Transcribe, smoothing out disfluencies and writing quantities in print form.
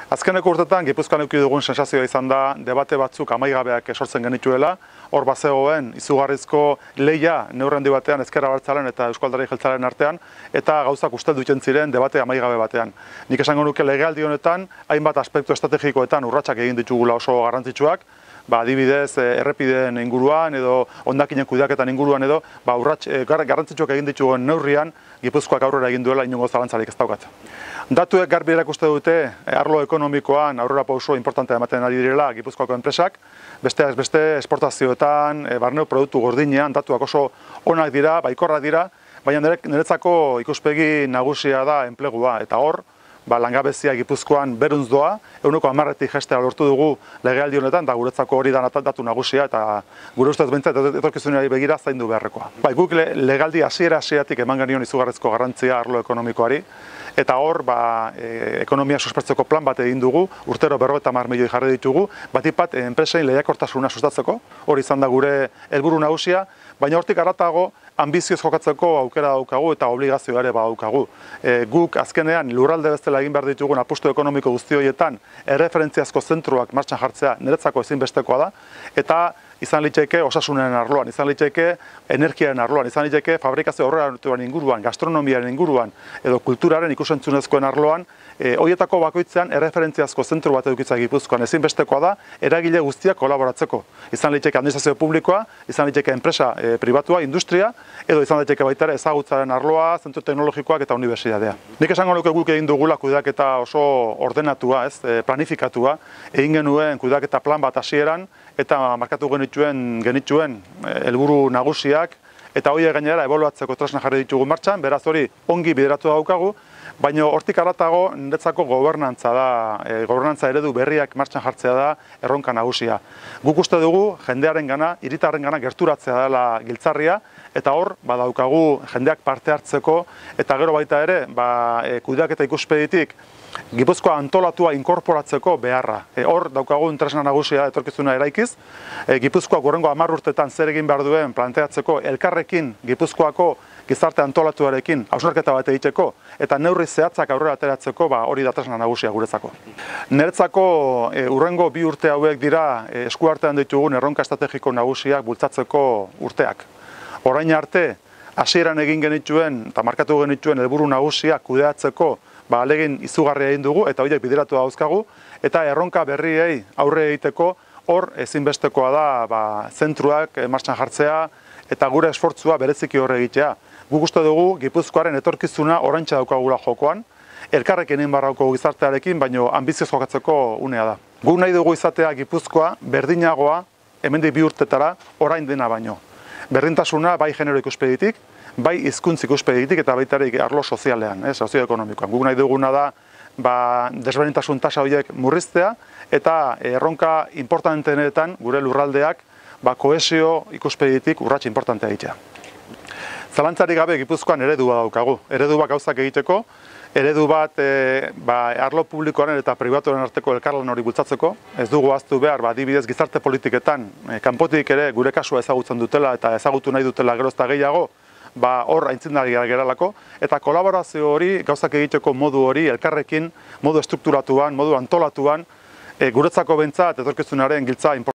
Azkeneko urtetan, Gipuzkoan eduki dugun sensazioa izan da, debate batzuk amaigabeak sortzen genituela, hor bazegoen izugarrizko lehia neurri handi batean Ezker Abertzaleen eta Euzko Alderdi Jeltzalearen artean, eta gauzak usteldu egiten ziren debate amaigabe batean. Nik esango nuke legealdi honetan, hainbat aspektu estrategikoetan urratsak egin ditugula oso garrantzitsuak, adibidez, errepideen inguruan edo hondakinen kudeaketan inguruan edo, urrats garrantzitsuak egin dituen neurrian, Gipuzkoak aurrera egin duela inongo zalantzarik ez daukat. Datuek garbi erakuste dute arlo ekonomikoan aurrera pauso importantea ematen ari direla Gipuzkoako enpresak, besteak beste esportazioetan, barne produktu gordinean datuak oso onak dira, baikorrak dira, baina niretzako ikuspegi nagusia da enplegua, eta hor, langabezia Gipuzkoan beruntz doa, 10%tik jaistea lortu dugu legealdi honetan, da guretzako hori da datu nagusia, eta gure ustez behintzat etorkizunari begira zaindu beharrekoa. Guk legealdi hasieratik eman genion izugarrizko garrantzia arlo ekonomikoari, eta hor, ekonomia suspertzeko plan bat egin dugu, urtero 50 milioi jarri ditugu, batipat enpresein lehiakortasuna sustatzeko, hori izan da gure helburu nagusia, baina hortik haratago ambizioz jokatzeko aukera daukagu eta obligazioa ere badaukagu. Guk azkenean lurralde bezala egin behar ditugun apustu ekonomiko guzti horietan erreferentziazko zentruak martxan jartzea niretzako ezinbestekoa da, eta izan liteke osasunen arloan, izan liteke energiaren arloan, izan liteke fabrikazio aurreratuaren inguruan, gastronomiaren inguruan edo kulturaren ikusentzunezkoen arloan, horietako bakoitzean erreferentziazko zentru bat edukitza Gipuzkoan ezinbestekoa da eragile guztiak kolaboratzeko. Izan liteke administrazio publikoa, izan liteke enpresa pribatua, industria, edo izan liteke baita ere ezagutzaren arloa, zentru teknologikoak eta unibertsitatea. Nik esango nuke guk egin dugula kudeaketa oso ordenatua, planifikatua, egin genuen kudeaketa plan bat hasieran, eta markatu genituen helburu nagusiak, eta horiek gainera ebaluatzeko tresna jarri ditugu martxan, beraz hori ongi bideratu daukagu, baina hortik haratago niretzako gobernantza da, gobernantza eredu berriak martxan jartzea da erronka nagusia. Guk uste dugu jendearengana, hiritarrengana gerturatzea dela giltzarria, eta hor badaukagu jendeak parte hartzeko, eta gero baita ere, kudeaketa ikuspeditik Gipuzkoa antolatua inkorporatzeko beharra. Hor daukagun tresna nagusia etorkizuna eraikiz, Gipuzkoak hurrengo 10 urtetan zer egin behar duen planteatzeko elkarrekin Gipuzkoako gizarte antolatuarekin hausnarketa bat egiteko eta neurri zehatzak aurrera ateratzeko hori da tresna nagusia guretzako. Niretzako hurrengo 2 urte hauek dira eskuartean ditugun erronka estrategiko nagusiak bultzatzeko urteak. Orain arte, hasieran egin genituen eta markatu genituen helburu nagusiak kudeatzeko alegin izugarria egin dugu eta horiek bideratu dauzkagu, eta erronka berriei aurre egiteko hor ezinbestekoa da zentruak martxan jartzea eta gure esfortzua bereziki horre egitea. Guk uste dugu Gipuzkoaren etorkizuna oraintxe daukagula jokoan, elkarrekin egin barrauko gizartearekin, baino ambizioz jokatzeko unea da. Guk nahi dugu izatea Gipuzkoa berdinagoa hemendik 2 urtetara orain dena baino. Berdintasuna bai genero ikuspeditik, bai hizkuntz ikuspegitik eta baita ere arlo sozialean, sozioekonomikoan. Guk nahi duguna da desberdintasun tasa horiek murriztea eta erronka importanteenetan gure lurraldeak kohesio ikuspegitik urrats importantea egitea. Zalantzarik gabe Gipuzkoan eredua daukagu. Eredu bat gauzak egiteko, eredu bat arlo publikoaren eta pribatuaren arteko elkarlan hori bultzatzeko. Ez dugu ahaztu behar, adibidez gizarte politiketan, kanpotik ere gure kasua ezagutzen dutela eta ezagutu nahi dutela gero eta gehiago, hor aintzindari geralako, eta kolaborazio hori, gauzak egiteko modu hori, elkarrekin, modu estrukturatuan, modu antolatuan, guretzako behintzat etorkizunaren giltza